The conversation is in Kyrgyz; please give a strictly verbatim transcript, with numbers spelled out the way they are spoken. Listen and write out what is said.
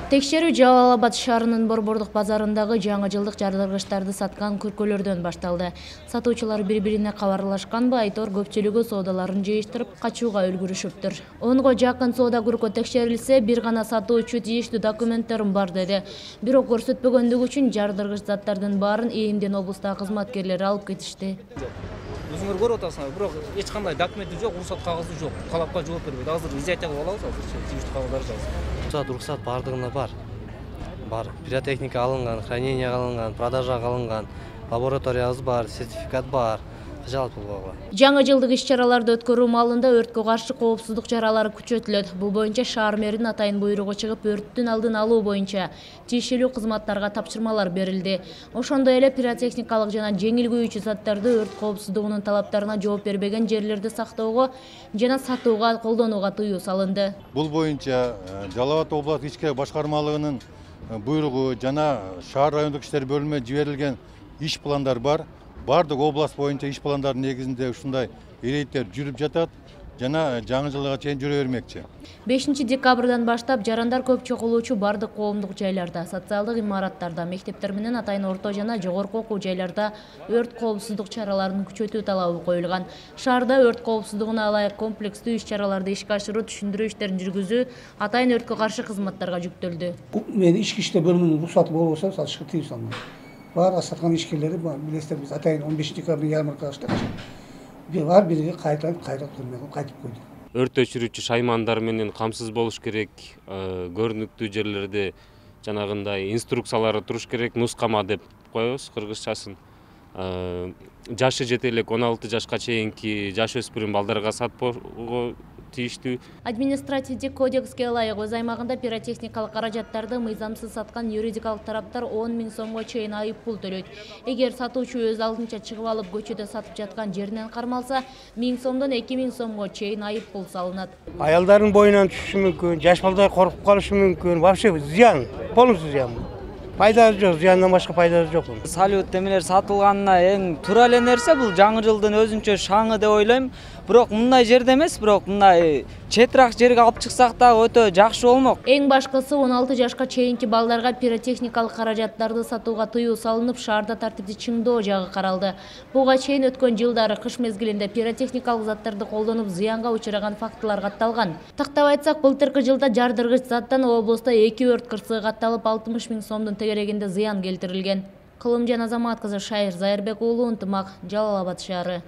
Текшерүү Жалал Абад шаарынын Борбордук базарындагы жаңы жылдык жардыргычтарды саткан көркөлөрдөн башталды. Сатуучулар бири-бирине кабарлашканбы, айтор көпчүлүгү соодаларын жыйыштырып, качууга үлгүрүшүптүр. онго жакын соода көркө текшерилсе, бир гана сатуучу тийиштүү документтерим бар деди. Бирок көрсөтпөгөндүгү үчүн жардыргыч заттардын баарын ээмден облустагы кызматкерлер алып кетишти. Өзүңөр көрүп атасыңар, бирок эч кандай документи жок, уруксат кагызы жок. Талапка жооп бербейт. Азыр изоятка кылып алабыз, азыр тийиштүү кагаздар жазып. Рұқсат, рұқсат бардығына бар. Бар. Пиротехника алынған, хранение алынған, продажа алынған, лабораториябыз бар, сертификат бар. Жалпы болгон. Жаңы жылдык иш-чараларды өткөрүү маалында өрткө каршы коопсуздук чаралары күчөтүлөт. Бул боюнча шаар мэринин атайын буйругу чыгып, өрттүн алдын алуу боюнча тиешелүү кызматтарга тапшырмалар берилди. Ошондой эле пиротехникалык жана жеңил күйүүчү заттарды өрт коопсуздугунун талаптарына жооп бербеген жерлерде сактоого жана сатууга колдонууга тыюу салынды. Бул боюнча Жалал Абад областык ички башкармалыгынын буйругу жана шаар райондук иштер бөлүмүнө жиберилген иш пландар бар. Бардык область боюнча иш пландардын негизинде ушундай иреттер жүрүп жатат жана жаңы жылга чейин жүрө бермекчи. бешинчи декабрдан баштап жарандар көп чогулуучу бардык коомдук жайларда, социалдык имараттарда, мектептер менен атайын орто жана жогорку окуу жайларда өрт коопсуздук чараларын күчөтүү талабы коюлган. Шаарда өрт коопсуздугуна ылайык комплекстүү иш-чараларды ишке ашыруу, түшүндүрүү иштерин жүргүзүү атайын өрткө каршы кызматтарга жүктөлдү. Мен ички иштер бөлүмүнүн уруксаты болбосо сатышка тыюу салынат. Бар саткан ишкерлери билесиздер, биз атайын он бешинчи декабрда ярмарка ачтык. Бир бар бириге кайтып кайтып турмай кайтып койду. Өрт өчүрүүчү шаймандар менен камсыз болуш керек, көрүнүктүү жерлерде жанагындай инструкциялары туруш керек, нускама деп коебуз кыргызчасын. Жашы жете элек он алты жашка чейинки жаш өспүрүм балдарга сатпоого тийиштүү. Административдик кодекске ылайык өз аймагында пиротехникалык каражаттарды мыйзамсыз саткан юридикалык тараптар он миң сомго чейин айып пул төлөйт. Эгер сатуучу өз алдынча чыгып алып көчөдө сатып жаткан жеринен кармалса, миң сомдон эки миң сомго чейин айып пул салынат. Аялдардын боюнан түшүшү мүмкүн, жаш балдар коркуп калышы мүмкүн. Вообще зыян, полностью зыян. Пайдасы жок, зыяндан башка пайдасы жок. Салют эмелер сатылганына эң туура эле нерсе бул жаңы жылдын өзүнчө шаңы деп ойлойм. Бирок мындай жерде эмес, бирок мындай четирак жерге алып чыксак да өтө жакшы болмок. Эң башкысы он алты жашка чейинки балдарга пиротехникалык каражаттарды сатууга тыюу салынып, шаарда тартипти чыңдоо жагы каралды. Буга чейин өткөн жылдары кыш мезгилинде пиротехникалык заттарды колдонуп зыянга учураган фактылар катталган. Тактап айтсак, былтыркы жылда жардыргыч заттан облустта эки өрт кырсыгы катталып, алтымыш миң сомдун тегерегинде зыян келтирилген. Кылымжан Азамат кызы Шайыр Зайырбек уулу, Ынтымак, Жалал Абад шаары.